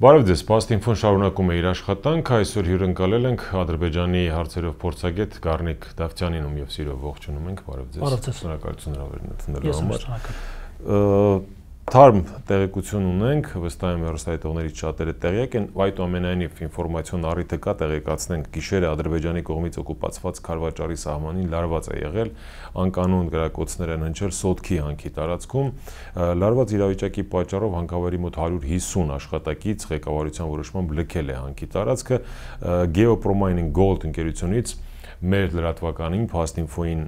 Բարև ձեզ, Պաստինֆոն շարունակում է իր աշխատանքը, այսօր հյուրընկալել ենք Ադրբեջանի հարցերով փորձագետ Գառնիկ Դավթյանին, ում եւ սիրով ողջունում ենք, բարև ձեզ։ Շնորհակալություն հրավերն ընդունելու համար։ Թարմ տեղեկություն ունենք, վստահ եմ հեռուստադիտողներից շատերը տեղյակ են, այդուամենայնիվ ինֆորմացիոն առիթը կա, տեղեկացնենք, գիշերը Ադրբեջանի կողմից օկուպացված Քարվաճարի սահմանին լարված է եղել, անկանոն գրակոծներ են հնչել Սոտքի հանքի տարածքում, լարված իրավիճակի պատճառով հանքավայրի մոտ 150 աշխատակից ղեկավարության որոշմամբ լքել է հանքի տարածքը, Geopromining Gold ընկերությունից մեր լրատվականին Պաստինֆոին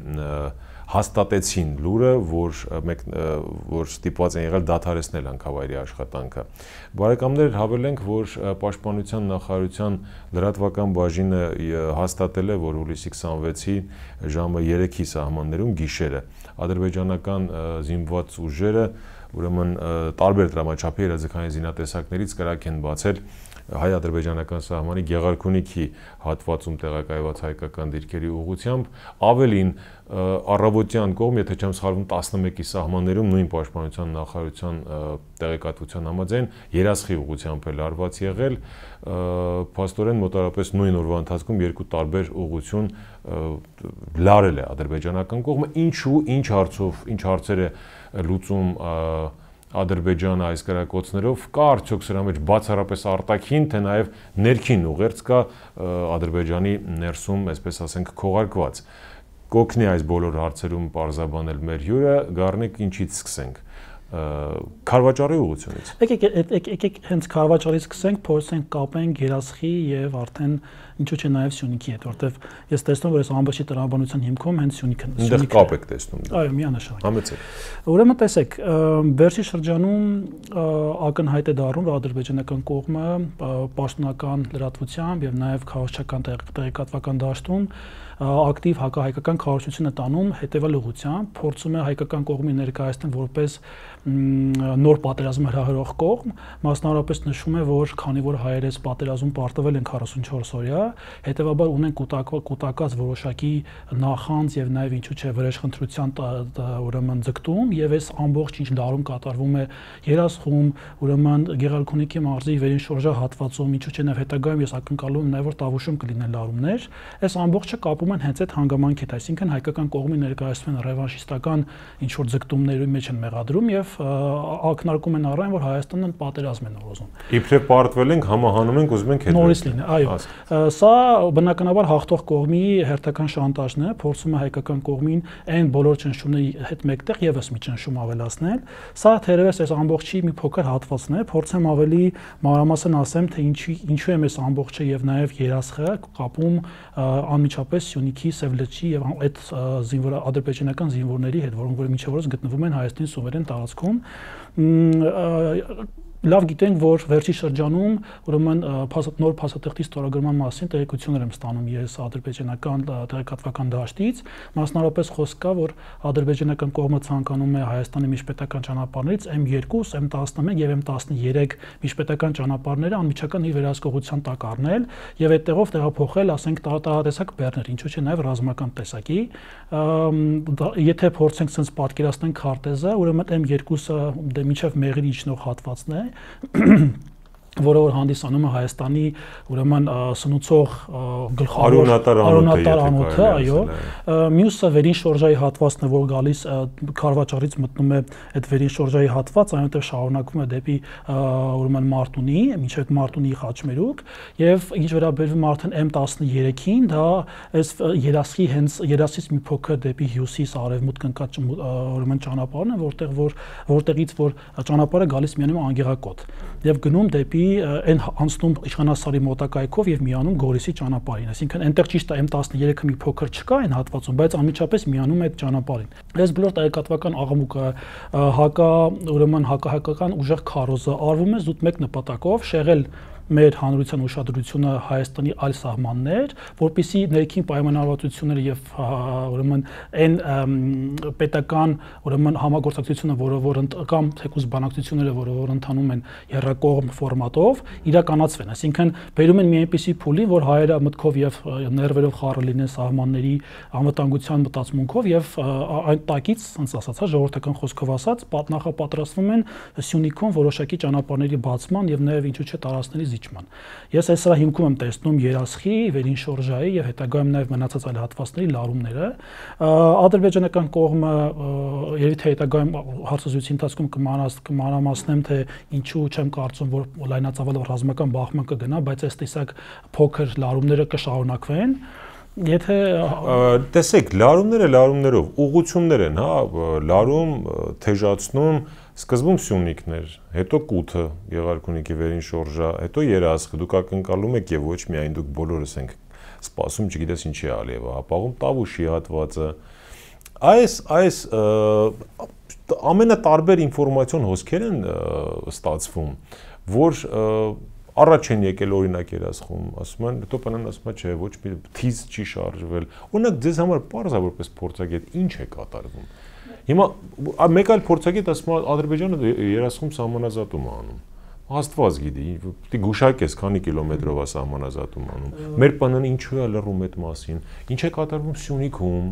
հաստատեցին լուրը, որ ստիպված են եղել դադարեցնել հանքավայրի աշխատանքը։ Բարեկամներ, հավելենք, որ Պաշտպանության նախարարության լրատվական բաժինը հաստատել է, որ հուլիսի 26-ի ժամը 3-ի սահմաններում գիշերը ադրբեջանական զինված ուժերը, ուրեմն տարբեր դրամաչափի երազքային զինատեսակներից կրակ են բացել հայ-ադրբեջանական սահմանի Գեղարքունիքի հատվածում տեղակայված հայկական դիրքերի ուղղությամբ, ավելին առավոտյան կողմ, եթե չեմ սխալվում, 11-ի սահմաններում նույն պաշտպանության նախարարության տեղեկատվության համաձայն երասխի ուղղությամբ է լարված եղել, փաստորեն մոտավորապես նույն օրվա ընթացքում երկու տարբեր ուղղություն լարել է ադրբեջանական կողմը, ինչու, ինչ հարցեր է լուծում Ադրբեջանը այս գրակոծներով, կա արդյոք սրա մեջ բացառապես արտաքին, թե նաև ներքին ուղերձ կա Ադրբեջանի ներսում, այսպես ասենք, քողարկված։ Կօգնի այս բոլոր հարցերում պարզաբանել մեր հյուրը, Գառնիկ, ինչից սկսենք։ Քարվաճարի ուղղությունից։ Եկեք հենց Քարվաճարից սկսենք, փորձենք կապենք երասխի եւ արդեն ինչու՞ չէ նաեւ Սյունիքի հետ, որտեվ ես տեսնում որ այս ամբողջի տրամաբանության հիմքում հենց Սյունիքն է։ Այնտեղ կապ եք տեսնում։ Այո, միանշանակ։ Համեցեք։ Ուրեմն տեսեք, վերջի շրջանում ակնհայտ է դառնում, որ ադրբեջանական կողմը պաշտոնական լրատվությամբ եւ նաեւ քաղաքական տեղեկատվական դաշտում ակտիվ հակահայկական քարոզություն է տանում հետևյալ ուղղությամբ, փորձում է հայկական կողմի ներկայացնել որպես նոր պատերազմ հրահրող կողմ, մասնավորապես նշում է, որ քանի որ հայերը այս պատերազմում պարտվել են 44 օրյա, հետևաբար ունեն կուտակած որոշակի նախանձ եւ նաեւ ինչու՞ չէ վրեժխնդրության ուրեմն ձգտում եւ այս ամբողջ ինչ դարում կատարվում է երասխում, ուրեմն Գեղարքունիքի մարզի վերին շորժա հատվածում, ինչու՞ չէ նաեւ հետագայում ես ակնկալում եմ նաեւ որ Տավուշում կլինեն լարումներ, այս ամբողջը կապում են հենց այդ հանգամանքի հետ, այսինքն հայկական կողմի ներկայացնում են ռևանշիստական ինչ որ ձգտումների մեջ են մեղադրում եւ ակնարկում են առայն, որ Հայաստանն պատերազմ են ուզում։ Իբրև պարտվել ենք, համահանում ենք, ուզում ենք հետ նորից լինի, այո։ Սա բնականաբար հաղթող կողմի հերթական շանտաժն է, փորձում է հայկական կողմին այն բոլոր ճնշումների հետ մեկտեղ եւս մի ճնշում ավելացնել։ Սա թերևս այս ամբողջի մի փոքր հատվածն է, փորձեմ ավելի մանրամասն ասեմ, թե ինչու է այս ամբողջը եւ նաեւ երասխը կապում անմիջապես Սյունիքի Սևլեչի եւ այդ ադրբեջանական զինվորների հետ, որոնք մինչև օրս գտնվում են Հայաստանի սուվերեն տարածքում, լավ գիտենք, որ վերջի շրջանում ուրեմն նոր փաստաթղթի ստորագրման մասին տեղեկություններ եմ ստանում ես ադրբեջանական տեղեկատվական դաշտից, մասնավորապես խոսք կա, որ ադրբեջանական կողմը ցանկանում է Հայաստանի միջպետական ճանապարհներից M2, M11 եւ M13 միջպետական ճանապարհները անմիջական իր վերահսկողության տակ առնել եւ այդտեղով տեղափոխել, ասենք, տարատեսակ բեռներ, ինչու՞ չէ նաեւ ռազմական տեսակի, եթե փորձենք sense պատկերացնենք քարտեզը, ուրեմն M2-ը մինչև Մեղրի իջնող հատվածն է, որը որ հանդիսանում է Հայաստանի ուրեմն սնուցող գլխավոր արոնատար անոթը, այո, մյուսը վերին շորժայի հատվածն է, որ գալիս Քարվաճարից մտնում է այդ վերին շորժայի հատված, այնտեղ շարունակվում է դեպի ուրեմն Մարտունի, մինչև Մարտունի Խաչմերուկ, եւ ինչ վերաբերվում արդեն M13-ին, դա այս երասխի հենց երասից մի փոքր դեպի հյուսիս արևմուտք ընկած ուրեմն ճանապարհն է, որտեղից որ ճանապարհը գալիս միանում Անգեղակոտ եւ գնում դեպի այն անցնում Իշխանասարի մոտակայքով եւ միանում Գորիսի ճանապարհին, այսինքն այնտեղ ճիշտ է M13-ը մի փոքր չկա այն հատվածում, բայց անմիջապես միանում է այդ ճանապարհին։ Այս բոլոր տեղեկատվական աղմուկը ուրեմն հակահայկական ուժեղ քարոզը արվում է զուտ մեկ նպատակով շեղել մեր հանրության ուշադրությունը Հայաստանի այլ սահմաններ, որպեսզի ներքին պայմանավորվածությունները եւ ուրեմն այն պետական ուրեմն համագործակցությունը, որ կամ թեկուզ բանակցությունները, որ ընթանում են երրակողմ ֆորմատով, իրականացվեն, այսինքն բերում են մի այնպիսի փուլի, որ հայերը մտքով եւ ներվերով խառը լինեն սահմանների անվտանգության մտածմունքով եւ այն տակից, ոնց ասացա, ժողովրդական խոսքով ասած, նախապատրաստվում են Սյունիքում որոշակի ճանապարհների բացման եւ նաեւ ինչու՞ չէ տարածքների զիջման։ Ես այս սրա հիմքում եմ տեսնում երասխի, վերին շորժայի եւ հետագայում նաեւ մնացած այլ հատվածների լարումները։ Ադրբեջանական կողմը երևի թե հետագայում հարցազրույցի ընթացքում կմանրամասնեմ, թե ինչու չեմ կարծում, որ լայնածավալ ռազմական բախման կգնա, բայց այս տեսակ փոքր լարումները կշարունակվեն։ Եթե տեսեք, լարումներով ուղղություններ են, հա, լարում, թեժացնում, սկզբում Սյունիքներ, հետո Կութը, Գեղարքունիքի վերին շորժա, հետո Երասխը, դուք ակնկալում եք եւ ոչ միայն դուք բոլորս ենք սպասում, չգիտես ինչի Ալիևը հապաղում, Տավուշի հատվածը։ Այս ամենատարբեր ինֆորմացիոն հոսքեր են ստացվում, որ առաջ են եկել օրինակ Երասխում, ասում են, հետո բանան ասում է, չէ, ոչ մի թիզ չի շարժվել։ Օրինակ ձեզ համար պարզ է որպես փորձագետ ինչ է կատարվում։ Հիմա մեկ այլ փորձագետ ասում է Ադրբեջանը Երասխում սահմանազատում է անում։ Աստված գիտի, պիտի գուշակես քանի կիլոմետրով է սահմանազատում անում։ Մեր բանան ինչու է լռում այդ մասին։ Ինչ է կատարվում Սյունիքում,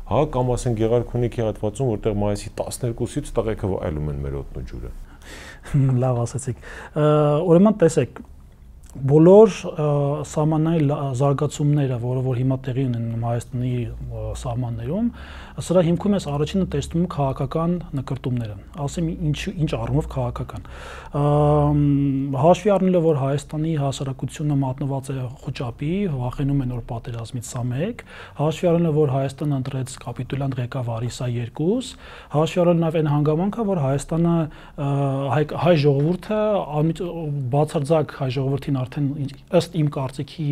հա, կամ ասեն Գեղարքունիքի հատվածում, որտեղ մայիսի 12-ից տղեկը վայելում են մեր օդն ու ջուրը։ Լավ ասացիք։ Ուրեմն տեսեք, բոլոր սահմանային զարգացումները, որ հիմա տեղի ունեն Հայաստանի սահմաններում, սրա հիմքում ես առաջինը տեսնում քաղաքական նկրտումները, ասեմ ինչ առումով քաղաքական։ Հաշվի առնելով, որ Հայաստանի հասարակությունը մատնված է խոճապի, վախենում են որ պատերազմից սա մեկ, հաշվի առնելով, որ Հայաստանը ընտրեց կապիտուլյանտ ղեկավարի սա երկուս, հաշվի առնելով այն հանգամանքը, որ Հայաստանը հայ ժողովուրդը բացարձակ հայ ժողովրդին արդեն ըստ իմ կարծիքի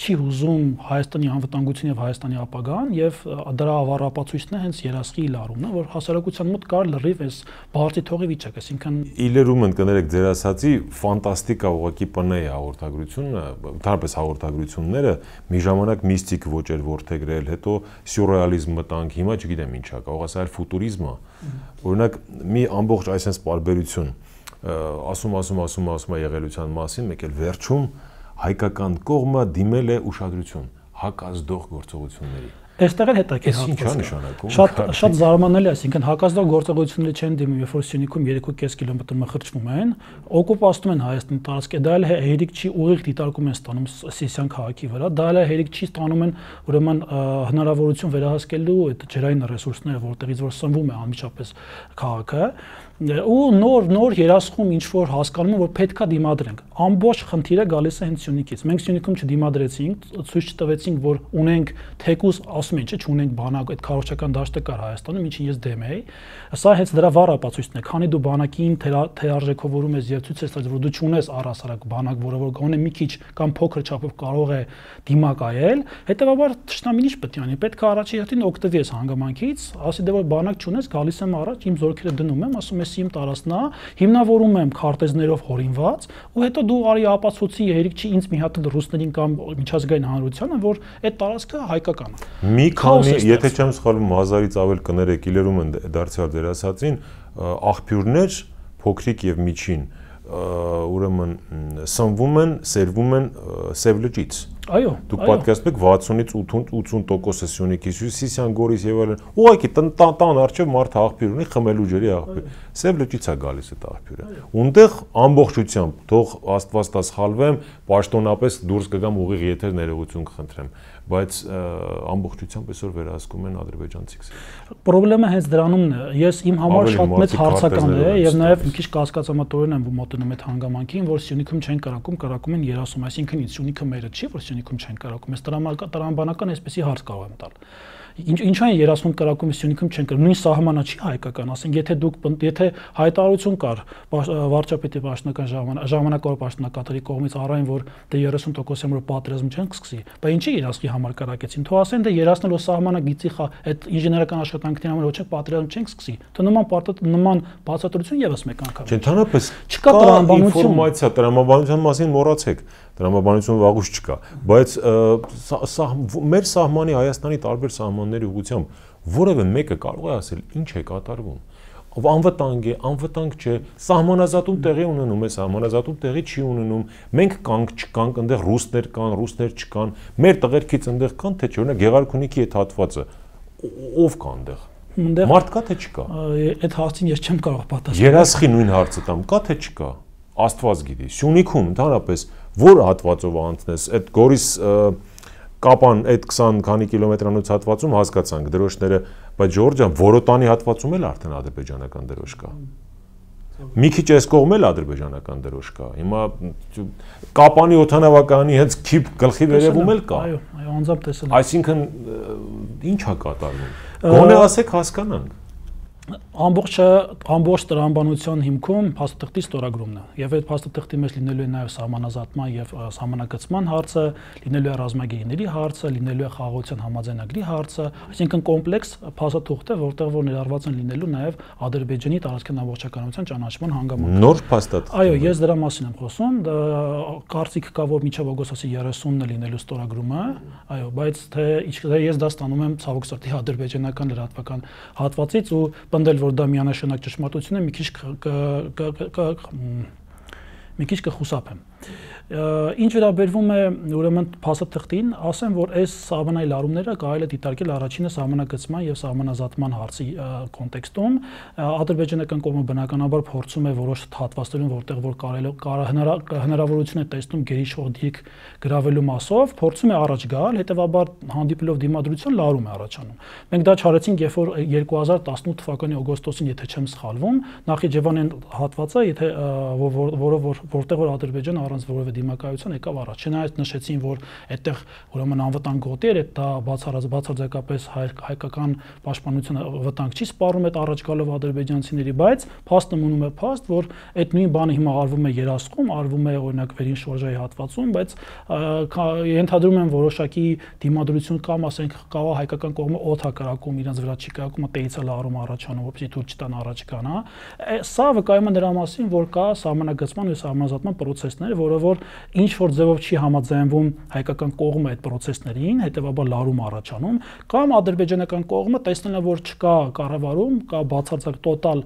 չի հուզում Հայաստանի անվտանգություն եւ Հայաստանի ապագան եւ դրա ավառապացույցն է հենց Երասխի լարումն է, որ հասարակության մոտ կար լրիվ այս բարձի թողի վիճակ, այսինքն իլերում ընկներեք ձեր ասացի ֆանտաստիկ է ուղղակի ՊՆ-ի հաղորդագրությունը, ընդհանրապես հաղորդագրությունները մի ժամանակ միստիկ ոչ էր ворթեգրել, հետո սյուրռեալիզմ մտանք, հիմա չգիտեմ ինչա, կարող ասել ֆուտուրիզմը, օրինակ մի ամբողջ այսպես բարբերություն ասում է եղելության մասին, մեկ էլ վերջում հայկական կողմը դիմել է ուշադրություն հակազդող գործողությունների։ Այստեղ էլ հետաքրքիր շատ զարմանալի է, այսինքն հակազդող գործողությունները չեն դիմում, երբ որ Սյունիքում 3.5 կիլոմետր մխրճվում են, օկուպացնում են Հայաստանի տարածքը, դա էլ հերիք չի ուղիղ դիտարկում են ստանում Սիսիան քաղաքի վրա, դա էլ հերիք չի ստանում են ուրեմն հնարավորություն վերահսկելու այդ ջրային ռեսուրսները, որտեղից որ սնվում է անմիջապես քաղաքը, ու նոր Երասխում ինչ որ հասկանում են, որ պետքա դիմադրենք։ Ամբողջ խնդիրը գալիս է հենց Սյունիքից։ Մենք Սյունիքում չդիմադրեցինք, ցույց չտվեցինք, որ ունենք թեկուզ, ասում են, չէ, չունենք բանակ, այդ քարոզչական դաշտը կար Հայաստանում, ինչին ես դեմ էի։ Սա հենց դրա վառ ապացույցն է, քանի դու բանակին թերարժեքավորում ես եւ ցույց ես տալիս, որ դու չունես առհասարակ բանակ, որը որ գոնե մի քիչ կամ փոքր չափով կարող է դիմակայել, հետեւաբար թշնամին ինչ պետք է անի։ Պետք է առաջի հերթին օգտվի այս հանգամանքից, ասի դե որ բանակ չունես, գալիս եմ առաջ, իմ զորքերը դնում եմ, ասում ես իմ տարածքն է, հիմնավորում եմ քարտեզներով հորինված, ու հետո դու արի ապացուցի հերիք չի ինձ մի հատ ռուսներին կամ միջազգային հանրությանը, որ այդ տարածքը հայկական է։ Մի քանի, եթե չեմ սխալվում, 1000-ից ավել կներեք, իլերում են դարձյալ ձեր ասածին, աղբյուրներ փոքրիկ եւ միջին, ուրեմն սնվում են, սերվում են Սև լճից։ Այո, դուք պատկերացնեք 60-ից 80% Սյունիքի, Սիսիան, Գորիս եւ այլն։ Ուղղակի տան առջեւ մարդ աղբյուր ունի, խմելու ջրի աղբյուր։ Սև լճից է գալիս այդ աղբյուրը։ Ունտեղ ամբողջությամբ, թող Աստված տա սխալվեմ, պաշտոնապես դուրս կգամ ուղիղ եթեր ներողություն կխնդրեմ, բայց ամբողջությամբ այսօր վերահսկում են ադրբեջանցիք։ Պրոբլեմը հենց դրանումն է։ Ես իմ համար շատ մեծ հարցական է եւ նաեւ մի քիչ կասկածամտորեն եմ մոտենում այդ հանգամանքին, որ Սյունիքում չեն կարակում են Երասում, այսինքն Սյունիքը մերը չի, որ Սյունիքում չեն կարակում։ Ես տրամաբանական այսպեսի հարց կարող եմ տալ։ ինչու են երասնում կրակում Սյունիքում չեն կրում, նույն սահմանը չի հայկական, ասենք եթե հայտարարություն կար վարչապետի պաշտոնական ժամանակավոր պաշտոնակատարի կողմից առայն որ դե 30% որ պատերազմ չեն կսկսի, բայց ինչի երասքի համար կրակեցին, թող ասեն դե երասնելով սահմանը գիծի այդ ինժեներական աշխատանքների համար ոչ է պատերազմ չեն կսկսի, թե նման բացատրություն եւս մեկ անգամ։ Ընդհանրապես չկա ինֆորմացիա տրամաբանության մասին մոռացեք, տրամաբանությունը վաղուց չկա, բայց մեր սահմանի Հայաստանի տարբեր սահմանների ուղղությամբ որևէ մեկը կարող է ասել ինչ է կատարվում։ Անվտանգ է, անվտանգ չէ, սահմանազատում տեղի ունենում է, սահմանազատում տեղի չի ունենում, մենք կանք չկանք, այնտեղ ռուսներ կան, ռուսներ չկան, մեր տղերքից այնտեղ կան, թե չէ, օրինակ Գեղարքունիքի այդ հատվածը ով կա այնտեղ։ Մարդ կա թե չկա։ Այդ հարցին ես չեմ կարող պատասխանել։ Երասխի նույն հարցը տամ, կա թե չկա։ Աստված գիտի։ Սյունիքում ընդհանրապես որ հատվածով անցնես, այդ Գորիս Կապան այդ 20 քանի կիլոմետրանոց հատվածում հասկացանք դրոշները, բայց Ժորժյան Որոտանի հատվածում էլ արդեն ադրբեջանական դրոշ կա։ Մի քիչ այս կողմ էլ ադրբեջանական դրոշ կա։ Հիմա Կապանի օթանավականի հենց քիփ գլխի վերևում էլ կա։ Այո, անձամբ տեսել եմ։ Այսինքն ի՞նչ է կատարվում։ Գոնե ասեք հասկանանք։ Ամբողջ տրամաբանության հիմքում փաստաթղթի ստորագրումն է եւ այդ փաստաթղթի մեջ լինելու է նաեւ սահմանազատման եւ սահմանակցման հարցը, լինելու է ռազմագերիների հարցը, լինելու է խաղաղության համաձայնագրի հարցը, այսինքն կոմպլեքս փաստաթուղթ է, որտեղ որ ներառված են լինելու նաեւ Ադրբեջանի տարածքային ամբողջականության ճանաչման հանգամանքը։ Նոր փաստաթղթ։ Այո, ես դրա մասին եմ խոսում, կարծիք կա որ մինչեւ օգոստոսի 30-ն է լինելու ստորագրումը, այո, բայց թե ես դա ստանում եմ ցավոք սրտի ադրբեջանական լրատվական հատվածից ու պնդել որ դա միանշանակ ճշմարտություն է, մի քիչ կխուսափեմ։ Ինչ վերաբերվում է ուրեմն փաստաթղթին, ասեմ որ այս սահմանային լարումները կարելի է դիտարկել առաջինը սահմանագծման եւ սահմանազատման հարցի կոնտեքստում ադրբեջանական կողմը բնականաբար փորձում է որոշ հատվածներում որտեղ որ հնարավորություն է տեսնում գերիշխող դիրք գրավելու մասով փորձում է առաջ գալ, հետեւաբար հանդիպելով դիմադրություն լարում է առաջանում։ Մենք դա չարեցինք երբ որ 2018 թվականի օգոստոսին եթե չեմ սխալվում Նախիջևանյան հատվածը եթե որտեղ որ Ադրբեջանը առանց որևէ դիմակայության եկավ առաջ։ Չնայած նշեցին, որ այդտեղ ուրեմն անվտանգ գոտի էր, դա բացարձակապես հայկական պաշտպանությունը վտանգ չի սպառում այդ առաջ գալով ադրբեջանցիների, բայց փաստը մնում է փաստ, որ այդ նույն բանը հիմա արվում է Երասխում, արվում է օրինակ Վերին շորժայի հատվածում, բայց ենթադրում եմ որոշակի դիմադրություն կամ ասենք կարող հայկական կողմը օդ է կրակում, իրենց վրա չի կրակում, տեից է լարում առաջանում, որպեսզի դուր չտան առաջ գան, հա։ Սա վկայում է նրա մասին, որ կա սահմանագծման ու սահմանազատման պրոցեսներ, որը որ ինչ որ ձևով չի համաձայնվում հայկական կողմը այդ պրոցեսներին, հետեւաբար լարում առաջանում, կամ ադրբեջանական կողմը տեսնելով որ չկա կառավարում, կա բացարձակ տոտալ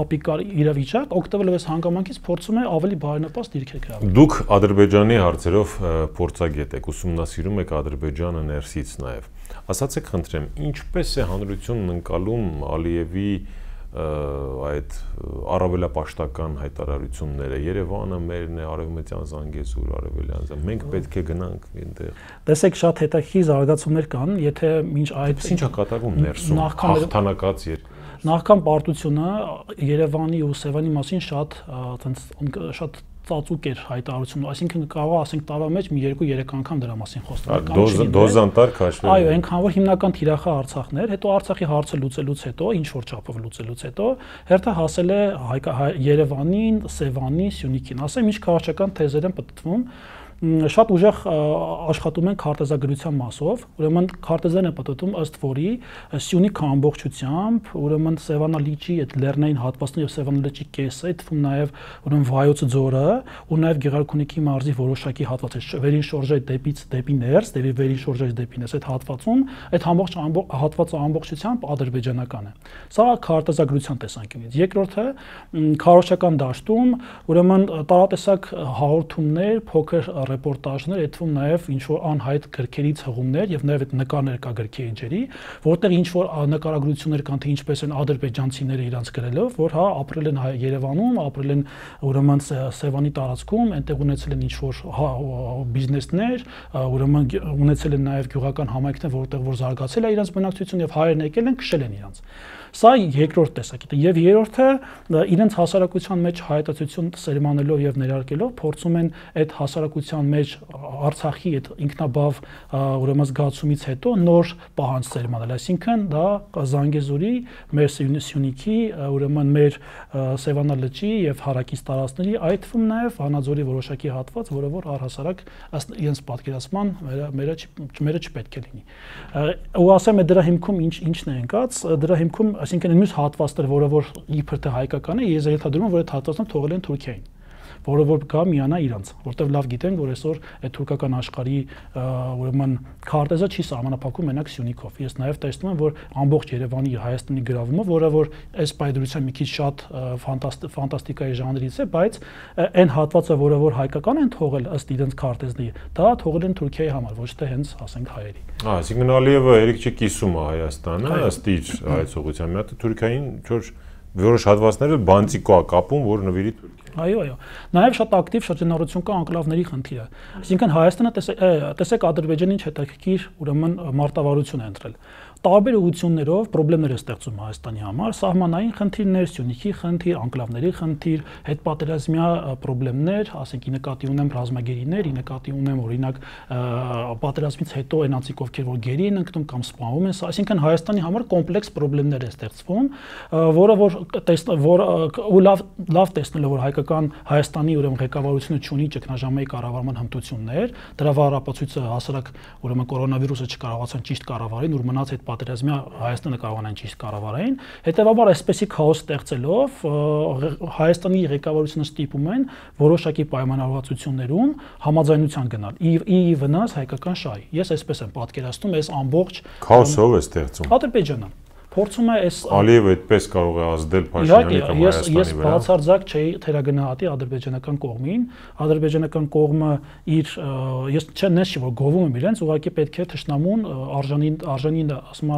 ապիկար իրավիճակ, օգտվելով այս հանգամանքից փորձում է ավելի բարենպաստ դիրքեր գրավել։ Դուք Ադրբեջանի հարցերով փորձագետ եք, ուսումնասիրում եք Ադրբեջանը ներսից նաև։ Ասացեք խնդրեմ, ինչպես է հանրությունն ընկալում Ալիևի այդ առավելապաշտական հայտարարությունները Երևանը մերն է, Արևմտյան Զանգեզուր, Արևելյան, մենք պետք է գնանք այնտեղ։ Տեսեք, շատ հետաքրքիր զարգացումներ կան, եթե մինչ այդ ինչ է կատարվում ներսում, հաղթանակած երկրում։ Նախքան պարտությունը Երևանի ու Սևանի մասին շատ ծածուկ էր հայտարարությունը, այսինքն կարող ասենք տարվա մեջ մի 2-3 անգամ դրա մասին խոստանում։ Դոզանտար քաշվել։ Այո, այնքան որ հիմնական թիրախը Արցախն էր, հետո Արցախի հարցը լուծելուց հետո, ինչ որ չափով լուծելուց հետո, հերթը հասել է Երևանին, Սևանին, Սյունիքին։ Ասեմ, ինչ քաղաքական թեզեր են պտտվում։ Շատ ուժեղ աշխատում են քարտեզագրության մասով, ուրեմն քարտեզերն են պատտում ըստ որի Սյունիքը ամբողջությամբ, ուրեմն Սևանալիճի այդ լեռնային հատվածն եւ Սևանալիճի կեսը, այդ թվում նաեւ ուրեմն Վայոց ձորը ու նաեւ Գեղարքունիքի մարզի որոշակի հատվածը, Վերին շորժայի դեպի ներս, Վերին շորժայի դեպի ներս այդ հատվածում, այդ ամբողջ հատվածը ամբողջությամբ ադրբեջանական է։ Սա քարտեզագրության տեսանկյունից։ Երկրորդը քարոզչական դաշտում, ուրեմն տարատեսակ հաղորդումներ, փոքր ռեպորտաժներ, այդ թվում նաև ինչ որ անհայտ գրքերից հղումներ եւ նաև այդ նկարներ կա գրքի էջերի, որտեղ ինչ որ նկարագրություններ կան թե ինչպես են ադրբեջանցիները իրանց գրելով, որ հա ապրել են Երևանում, ապրել են ուրեմն Սևանի տարածքում, այնտեղ ունեցել են ինչ որ բիզնեսներ, ուրեմն ունեցել են նաև գյուղական համայնքներ, որտեղ որ զարգացել է իրանց բնակչություն եւ հայերն եկել են քշել են իրանց։ Սա երկրորդ տեսակետը եւ երրորդը իրենց հասարակության մեջ հայտարարություն սերմանելով եւ ներարկելով փորձում են այդ հասարակության Հանրապետության մեջ Արցախի այդ ինքնաբավ ուրեմն զգացումից հետո նոր պահանջ սերմանել, այսինքն դա Զանգեզուրի, մեր Սյունիքի, ուրեմն մեր Սևանա լճի եւ հարակից տարածքների, այդ թվում նաեւ Վանաձորի որոշակի հատված, որը որ առհասարակ ըստ իրենց պատկերացման մերը չպետք է լինի։ Ու ասեմ դրա հիմքում ինչն է ընկած, դրա հիմքում, այսինքն մյուս հատվածները, որը որ իբր թե հայկական է, ես ենթադրում եմ, որ այդ հատվածը թողել են Թուրքիային, որը որ գա միանա իրանց, որտեղ լավ գիտենք, որ այսօր այդ թուրքական աշխարհի ուրեմն քարտեզը չի սահմանափակում մենակ Սյունիքով։ Ես նաև տեսնում եմ, որ ամբողջ Երևանի Հայաստանի գրավումը, որը որ այս պայդրության մի քիչ շատ ֆանտաստիկայի ժանրից է, բայց այն հատվածը, որը որ հայկական են թողել ըստ իրենց քարտեզների, դա թողել են Թուրքիայի համար, ոչ թե հենց ասենք հայերի։ Այսինքն Ալիևը երեք չի կիսում Հայաստանը, ըստ իր հայեցողության մի հատ Թուրքիային որոշ հատվածները բանտիկո է կապում, որ նվիրի Թուրքիային։ Այո։ Նաև շատ ակտիվ շրջանառություն կա անկլավների խնդիրը։ Այսինքն Հայաստանը տեսեք Ադրբեջանին հետաքրքիր ուրեմն մարտավարություն է ընտրել։ Տարբեր ուղղություններով խնդիրներ է ստեղծում Հայաստանի համար, սահմանային խնդիրներ, Սյունիքի խնդիր, անկլավների խնդիր, հետպատերազմյա խնդիրներ, ասենք ի նկատի ունեմ ռազմագերիներ, ի նկատի ունեմ օրինակ պատերազմից հետո այնացիկ ովքեր որ գերի են ընկնում կամ սպանվում են, այսինքն Հայաստանի համար կոմպլեքս խնդիրներ է ստեղծվում, որը որ լավ տեսնելով որ հայկական Հայաստանի ուրեմն ղեկավարությունը ունի ճգնաժամային կառավարման հմտություններ, դրա վառապացույցը հասարակ ուրեմն կորոնավիրուսը չկարողացան ճիշտ կառավարել, ու մնաց այդ պատերազմյա Հայաստանը կարողանան ճիշտ կառավարեն, հետեւաբար այսպեսի քաոս ստեղծելով Հայաստանի ղեկավարությունը ստիպում են որոշակի պայմանավորվածություններում համաձայնության գնալ ի վնաս հայկական շահի։ Ես այսպես եմ պատկերացնում այս ամբողջ քաոսով է ստեղծում Ադրբեջանը փորձում է այս Ալիևը այդպես կարող է ազդել Փաշինյանի կամ Հայաստանի վրա։ Ես բացարձակ չէի թերագնահատի ադրբեջանական կողմին, ադրբեջանական կողմը իր ես չնես չի որ գովում եմ իրենց, ուղղակի պետք է թշնամուն արժանին ասում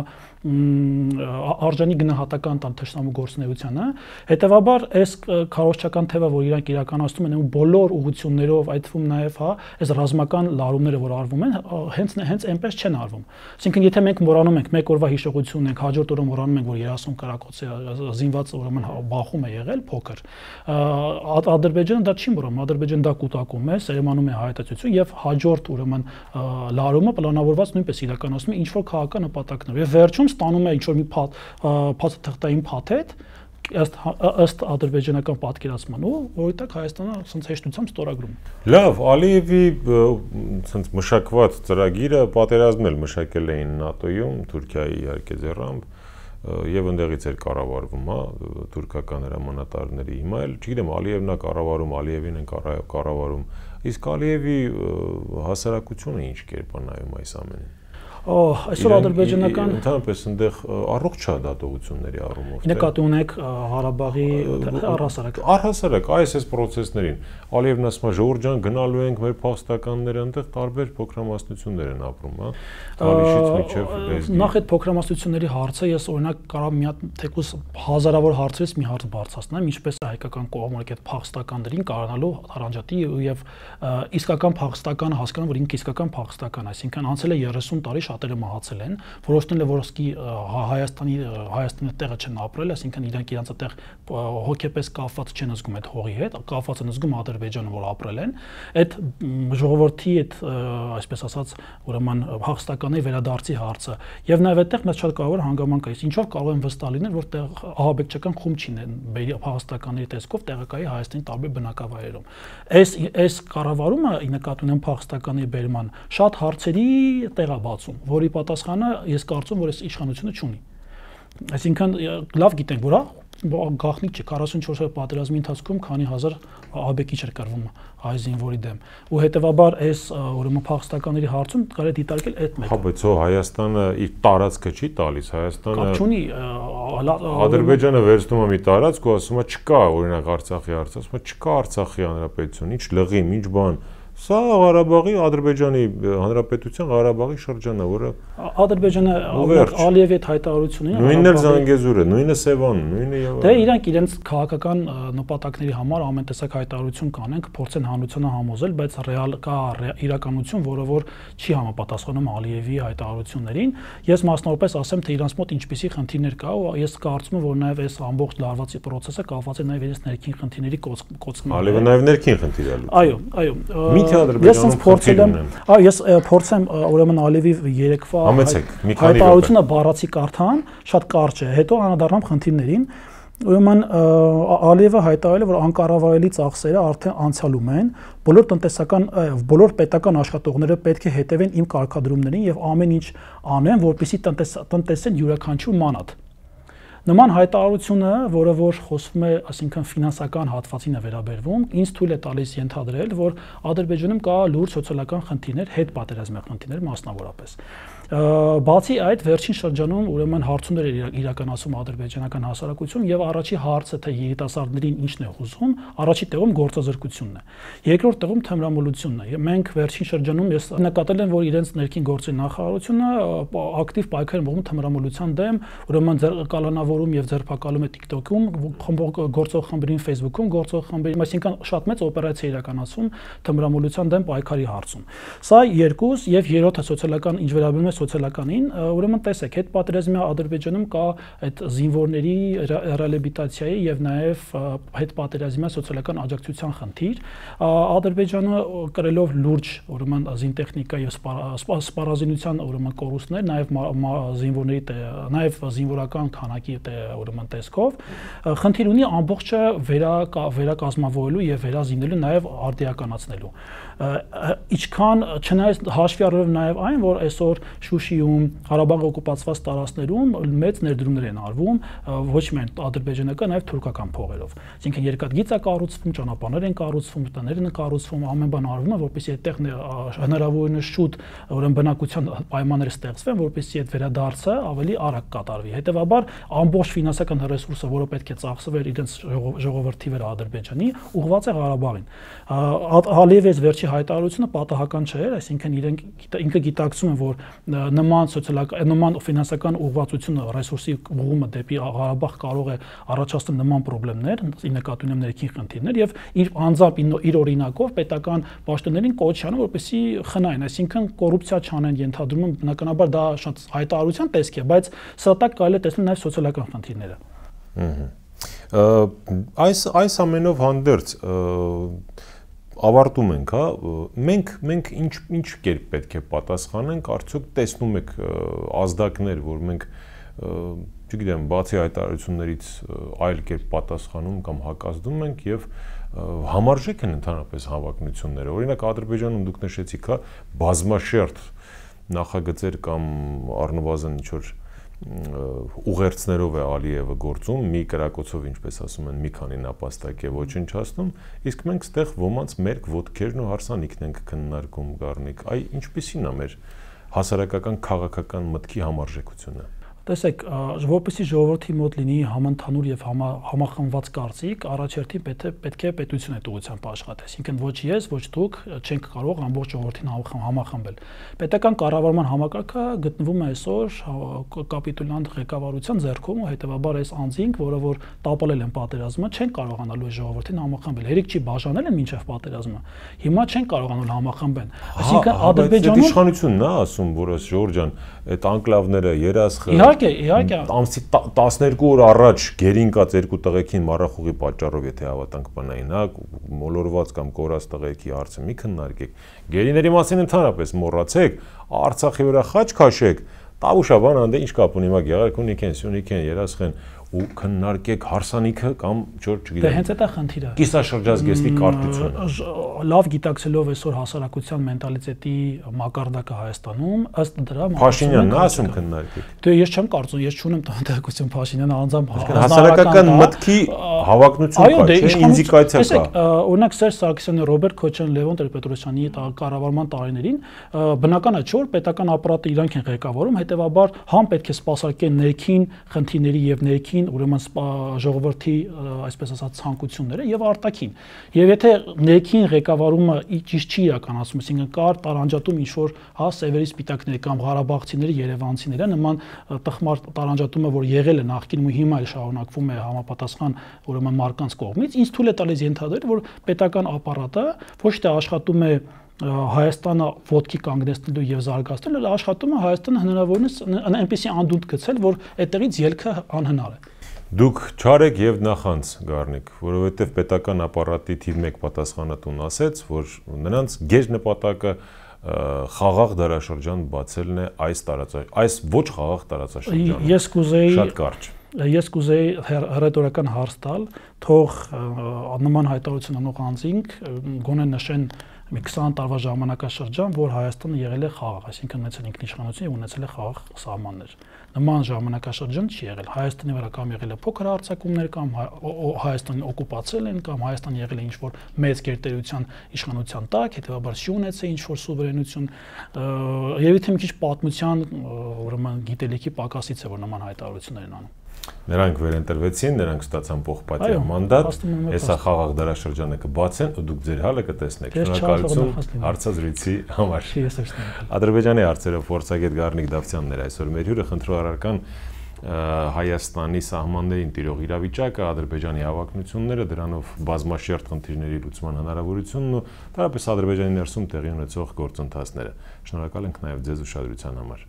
արժանի գնահատական տան թշնամու գործունեությանը, հետեւաբար այս քարոզչական թեվը, որ իրանք իրականացնում են բոլոր ուղղություններով, այդ թվում նաև այս ռազմական լարումները, որ արվում են, հենց այնպես չեն արվում։ Այսինքն եթե մենք մոռանում ենք մեկ օրվա հիշողություն ենք, հաջորդ օրը մոռանում ենք, որ 30 կարակոծի զինված ուրեմն բախում է եղել փոքր, Ադրբեջանը դա չի մոռանում, Ադրբեջանը դա կուտակում է, սերմանում է հայտարարություն եւ հաջորդ ուրեմն լարումը պլանավորված նույնպես իրականացնում է ինչ որ քաղաքական նպատակներով եւ վերջում ստանում է ինչ-որ մի փաթեթային փաթեթ ըստ ադրբեջանական պատկերացման ու որովհետեւ Հայաստանը ասենց հեշտությամբ ստորագրում։ Լավ, Ալիևի ասենց մշակված ծրագիրը պատերազմն էլ մշակել էին ՆԱՏՕ-ում, Թուրքիայի իհարկե ձեռամբ եւ ընդեղից էր կառավարվում, թուրքական հրամանատարների հիմա էլ, չգիտեմ, Ալիևն է կառավարում, Ալիևին են կառավարում, իսկ Ալիևի հասարակությունը ինչ կերպ է նայում այս ամենին։ Այսօր ադրբեջանական ընդհանրապես այնտեղ առողջ է դատողությունների առումով։ Նկատի ունեք Ղարաբաղի առհասարակ այս process-ներին Ալիևն ասում է ժողովուրդ ջան գնալու ենք մեր փախստականները այնտեղ տարբեր փոքրամասնություններ են ապրում, հա։ Թալիշից մինչև լեզգի։ Նախ այդ փոքրամասնությունների հարցը ես օրինակ կարող մի հատ թեկուզ հազարավոր հարցերից մի հարց բարձրացնեմ, ինչպես է հայկական կողմը այդ փախստականներին կարողանալու առանջատի եւ իսկական փախստականը հասկանում, որ ինքը իսկական փախստական, այսինքն անցել է 30 տարի շատերը մահացել են, որոշել են որ սկի Հայաստանի տեղը չեն ապրել, այսինքն իրանք իրանց այդտեղ հոգեպես կապված չեն զգում այդ հողի հետ, կապված են զգում Ադրբեջանը, որ ապրել են, այդ ժողովրդի այդ այսպես ասած ուրեմն փախստականի վերադարձի հարցը եւ նաեւ այդտեղ մեծ շատ կարևոր հանգամանք է, ինչով կարող են վստահ լինել, որ տեղ ահաբեկչական խումբ չինեն փախստականների տեսքով տեղակայի Հայաստանի տարբեր բնակավայրերում։ Այս կառավարումը ի նկատի ունեմ փախստականի բերման շատ հարցերի տեղ է բացում, որի պատասխանը ես կարծում որ այս իշխանությունը չունի։ Այսինքն լավ գիտենք, որ գաղտնիք չէ 44 օրյա պատերազմի ընթացքում քանի հազար ահաբեկիչ էր կրվում հայ զինվորի դեմ ու հետեւաբար այս ուրեմն փախստականների հարցում կարելի է դիտարկել այդ մեկը։ Հա բայց Հայաստանը իր տարածքը չի տալիս, Հայաստանը կապ չունի Ադրբեջանը վերցնում է մի տարածք ու ասում է չկա օրինակ Արցախի հարցը, ասում է չկա Արցախի հանրապետություն, ինչ լղիմ, ինչ բան։ Սա Ղարաբաղի Ադրբեջանի Հանրապետության Ղարաբաղի շրջանն է, որը Ադրբեջանը Ալիևի հետ հայտարարությունն է։ Նույնն էլ Զանգեզուրը, նույնը Սևանն, նույնը եւ դե իրանք իրենց քաղաքական նպատակների համար ամեն տեսակ հայտարարություն կանենք, փորձեն հանրությանը համոզել, բայց ռեալ կա իրականություն, որը որ չի համապատասխանում Ալիևի հայտարարություններին։ Ես մասնավորապես ասեմ, թե իրանց մոտ ինչպիսի խնդիրներ կա, ու ես կարծում եմ, որ նաեւ այս ամբողջ լարվածի process-ը կապված է նաեւ իրենց ներքին խնդիրների կոծկման։ Ալիևը նաեւ ներքին խնդիր է լուծում։ Այո։ Ինքը Ադրբեջանում փորձել եմ, ես փորձեմ ուրեմն Ալիևի երեկվա հայտարարությունը բառացի կարդամ, շատ կարճ է, հետո անդրադառնամ խնդիրներին։ Ուրեմն Ալիևը հայտարարել է, որ անկառավարելի ծախսերը արդեն անցյալում են, բոլոր պետական աշխատողները պետք է հետևեն իմ կարգադրումներին եւ ամեն ինչ անեն, որպեսզի տնտեսեն յուրաքանչյուր մանաթ։ Նման հայտարարությունը, որը որ խոսվում է, այսինքն ֆինանսական հատվածին է վերաբերվում, ինձ թույլ է տալիս ենթադրել, որ Ադրբեջանում կա լուրջ սոցիալական խնդիրներ, հետպատերազմյան խնդիրներ մասնավորապես։ Բացի այդ, վերջին շրջանում ուրեմն հարցումներ էր իրականացում ադրբեջանական հասարակություն եւ առաջի հարցը թե երիտասարդներին ինչն է հուզում, առաջի տեղում գործազրկությունն է։ Երկրորդ տեղում թմրամոլությունն է։ Մենք վերջին շրջանում ես նկատել եմ, որ իրենց ներքին գործերի նախարարությունը ակտիվ պայքար է մղում թմրամոլության դեմ, ուրեմն կալանավորում եւ ձերբակալում է TikTok-ում, գործող խմբերին Facebook-ում, գործող խմբերին, այսինքն շատ մեծ օպերացիա իրականացում թմրամոլության դեմ պայքարի հարցում։ Սա երկուս եւ երրորդը սոցիալական ինչ վերաբերում է սոցիալականին, ուրեմն տեսեք, հետ պատերազմյա Ադրբեջանում կա այդ զինվորների ռեաբիլիտացիայի եւ նաեւ հետ պատերազմյա սոցիալական աջակցության խնդիր։ Ադրբեջանը կրելով լուրջ ուրեմն զինտեխնիկա եւ սպառազինության ուրեմն կորուստներ, նաեւ զինվորների նաեւ զինվորական քանակի ուրեմն տեսքով խնդիր ունի ամբողջը վերակազմավորելու եւ վերազինելու նաեւ արդիականացնելու։ Իչքան չնայած հաշվի առնելով նաեւ այն, որ այսօր Շուշիում, Ղարաբաղի օկուպացված տարածքներում մեծ ներդրումներ են արվում, ոչ միայն ադրբեջանական, այլ թուրքական փողերով։ Այսինքն երկաթգիծ է կառուցվում, ճանապարհներ են կառուցվում, տներ են կառուցվում, ամեն բան արվում է, որպեսզի այդտեղ հնարավորինս շուտ ուրեմն բնակության պայմաններ ստեղծվեն, որպեսզի այդ վերադարձը ավելի արագ կատարվի։ Հետևաբար ամբողջ ֆինանսական ռեսուրսը, որը պետք է ծախսվեր իրենց ժողովրդի վրա Ադրբեջանի, ուղղված է Ղարաբաղին։ Ալիևի վերջի հայտարարությունը պատահական չէ, այսինքն ինքը գիտակցում է, որ նման ֆինանսական ուղղվածությունը ռեսուրսի ուղղումը դեպի Ղարաբաղ կարող է առաջացնել նման խնդիրներ, ի նկատի ունեմ ներքին խնդիրներ եւ իր անձամբ իր օրինակով պետական պաշտոններին կոչ անում, որպեսզի խնայեն, այսինքն կոռուպցիա չանեն, ենթադրում եմ, բնականաբար դա շատ հայտարարության տեսք է, բայց սրա տակ կարելի է տեսնել նաեւ սոցիալական խնդիրները։ Այս ամենով հանդերձ ավարտում ենք, հա, մենք ինչ կերպ պետք է պատասխանենք, արդյոք տեսնում եք ազդակներ, որ մենք, չգիտեմ, բացի հայտարարություններից այլ կերպ պատասխանում կամ հակազդում ենք եւ համարժեք են ընդհանրապես հավակնությունները։ Օրինակ Ադրբեջանում դուք նշեցիք, հա, բազմաշերտ նախագծեր կամ առնվազն ինչ որ ուղերձներով է Ալիևը գործում, մի կրակոցով, ինչպես ասում են, մի քանի նապաստակ է ոչնչացնում, իսկ մենք ստեղ ոմանց մերկ ոտքերն ու հարսանիքն ենք քննարկում, Գառնիկ, այ ինչպիսին է մեր հասարակական քաղաքական մտքի համարժեքությունը։ Տեսեք, որպեսզի ժողովրդի մոտ լինի համընդհանուր եւ համախմբված կարծիք, առաջերտին պետք է պետությունը այդ ուղղությամբ աշխատի, այսինքն ոչ ես, ոչ դուք չենք կարող ամբողջ ժողովրդին համախմբել։ Պետական կառավարման համակարգը գտնվում է այսօր կապիտուլյանտ ղեկավարության ձեռքում ու հետեւաբար այս անձինք, որը որ տապալել են պատերազմը, չեն կարողանալու ժողովրդին համախմբել։ Հերիք չի բաժանել են մինչև պատերազմը։ Հիմա չեն կարողանալ համախմբել։ Այսինքն Ադրբեջանում իշխանությունն է ասում, որ Ժորժ ջան, այդ անկլավները երասխը Իհարկե, ամսի 12 օր առաջ գերինկած երկու տղեկին մառախուղի պատճառով եթե հավատանք բանային, հա, մոլորված կամ կորած տղեկի հարցը մի քննարկեք։ Գերիների մասին ընդհանրապես մոռացեք, Արցախի վրա խաչ քաշեք, Տավուշաբան անդե ինչ կապ ունի, հիմա Գեղարքունիք են, Սյունիք են, երասխ են ու քննարկեք հարսանիքը կամ չոր չգիտեմ։ Դե հենց դա խնդիրը։ Կիսաշրջազգեստի կարգությունը։ Լավ գիտակցելով այսօր հասարակության մենտալիտետի մակարդակը Հայաստանում, ըստ դրա Փաշինյանն է ասում քննարկեք։ Դե ես չեմ կարծում, ես չունեմ տեղեկություն Փաշինյանը անձամբ հասարակական մտքի հավակնություն կա, չէ՞, ինդիկացիա կա։ Տեսեք, օրինակ Սերժ Սարգսյանը, Ռոբերտ Քոչարյան, Լևոն Տեր-Պետրոսյանի կառավարման տարիներին բնական է, չէ՞ որ պետական ապարատը իրանք են ղեկավարում, հետեւաբար համ պետք է սպասարկեն ներքին խնդիրների եւ ներքին ուրեմն ժողովրդի, այսպես ասած, ցանկությունները եւ արտաքին։ Եվ եթե ներքին ղեկավարումը ճիշտ չի իրականացում, այսինքն կար տարանջատում ինչ որ հա սևերի սպիտակների կամ ղարաբաղցիների, երևանցիները նման տխմար տարանջատումը, որ եղել է նախկինում ու հիմա էլ շարունակվում է համապատասխան ուրեմն մարկանց կողմից, ինձ թույլ է տալիս ենթադրել, որ պետական ապարատը ոչ թե աշխատում է Հայաստանը ոտքի կանգնեցնելու եւ զարգացնելու, այլ աշխատում է Հայաստանը հնարավորինս այնպեսի անդունդ գցել, որ այդտեղից ելքը անհնար է։ Դուք չար եք եւ նախանց Գառնիկ, որովհետեւ պետական ապարատի թիվ 1 պատասխանատուն ասեց, որ նրանց գեշ նպատակը խաղաղ դարաշրջան բացելն է այս ոչ խաղաղ տարածաշրջանում։ Ես կուզեի շատ կարճ։ Ես կուզեի հռետորական հարց տալ, թող նման հայտարարություն անող անձինք գոնե նշեն մի 20 տարվա ժամանակաշրջան, որ Հայաստանը եղել է խաղաղ, այսինքն ունեցել ինքնիշխանություն եւ ունեցել է խաղաղ սահմաններ։ Նման ժամանակաշրջան չի եղել։ Հայաստանի վրա կամ եղել է փոքր հարձակումներ, կամ Հայաստանին օկուպացել են, կամ Հայաստանը եղել է ինչ-որ մեծ գերտերության իշխանության տակ, հետեւաբար չի ունեցել ինչ-որ սուվերենություն։ Երևի թե մի քիչ պատմության, ուրեմն գիտելիքի պակասից է, որ նման հայտարարություններ են անում։ Նրանք վերընտրվեցին, նրանք ստացան պողպատյա մանդատ, հեսա խաղաղ դարաշրջանը կբացեն ու դուք ձեր հալը կտեսնեք։ Շնորհակալություն հարցազրույցի համար։ Ադրբեջանի հարցերով փորձագետ Գառնիկ Դավթյանն էր այսօր մեր հյուրը, խնդրու առարկան Հայաստանի սահմաններին տիրող իրավիճակը, Ադրբեջանի հավակնությունները, դրանով բազմաշերտ խնդիրների լուծման հնարավորությունն ու դարապես Ադրբեջանի ներսում տեղի ունեցող գործընթացները։ Շնորհակալ ենք նաև ձեզ ուշադրության համար։